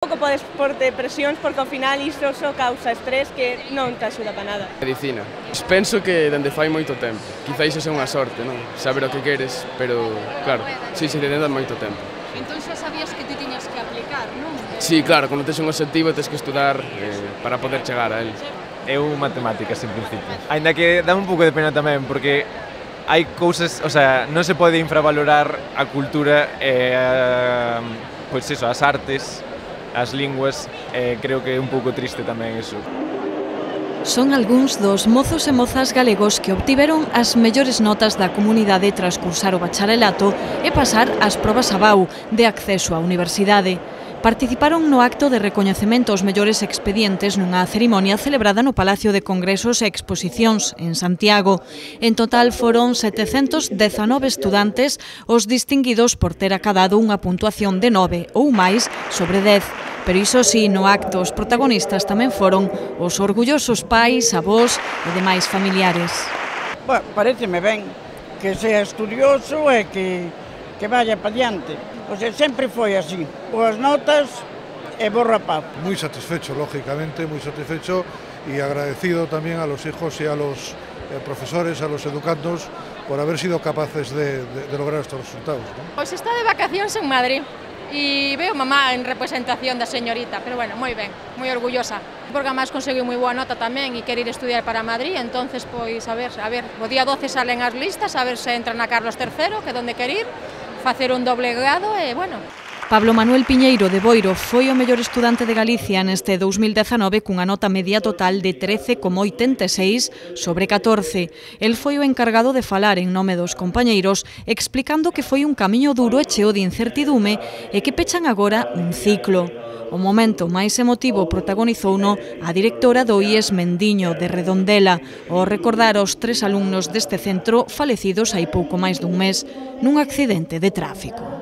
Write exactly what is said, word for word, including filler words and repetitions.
Pouco podes porte presións porque ao final isto só causa estrés que non te axuda para nada. Medicina. Penso que dende fai moito tempo. Quizá iso é unha sorte, non? Saber o que queres, pero claro, si se dende moito tempo. Entón xa sabías que ti tiñas que aplicar, non? Si, claro, cando tes un objetivo tes que estudar eh, para poder chegar a él. Eu matemáticas en principio. Ainda que dá un pouco de pena tamén porque hai cousas, o sea, non se pode infravalorar a cultura e a, pois iso, as artes, as linguas, eh, creo que é un pouco triste tamén iso. Son algúns dos mozos e mozas galegos que obtiveron as mellores notas da comunidade tras cursar o bacharelato e pasar as probas A B A U de acceso á universidade. Participaron no acto de recoñecemento aos mellores expedientes nunha cerimonia celebrada no Palacio de Congresos e Exposicións, en Santiago. En total foron setecentos dezanove estudantes os distinguidos por ter acadado unha puntuación de nove ou máis sobre dez. Pero iso si, no acto, os protagonistas tamén foron os orgullosos pais, avós e demais familiares. Bueno, pareceme ben que sea estudioso e que, que vaya para diante. O sea, sempre foi así. Boas notas e bo rapaz. Muy satisfecho, lógicamente, muy satisfecho y agradecido también a los hijos y a los eh, profesores, a los educandos, por haber sido capaces de, de, de lograr estos resultados, ¿no? Pois está de vacacións en Madrid. E veo mamá en representación da señorita, pero bueno, moi ben, moi orgullosa, porque además conseguiu moi boa nota tamén e quere ir estudiar para Madrid, entonces pois a ver, a ver, o día doce salen as listas, a ver se entra na Carlos terceiro, que é onde quere ir, facer un doble grado e bueno. Pablo Manuel Piñeiro de Boiro foi o mellor estudante de Galicia neste dous mil dezanove cunha nota media total de trece coma oitenta e seis sobre catorce. El foi o encargado de falar en nome dos compañeiros explicando que foi un camiño duro e cheo de incertidume e que pechan agora un ciclo. O momento máis emotivo protagonizouno a directora do I E S Mendiño de Redondela ao recordar aos tres alumnos deste centro falecidos hai pouco máis dun mes nun accidente de tráfico.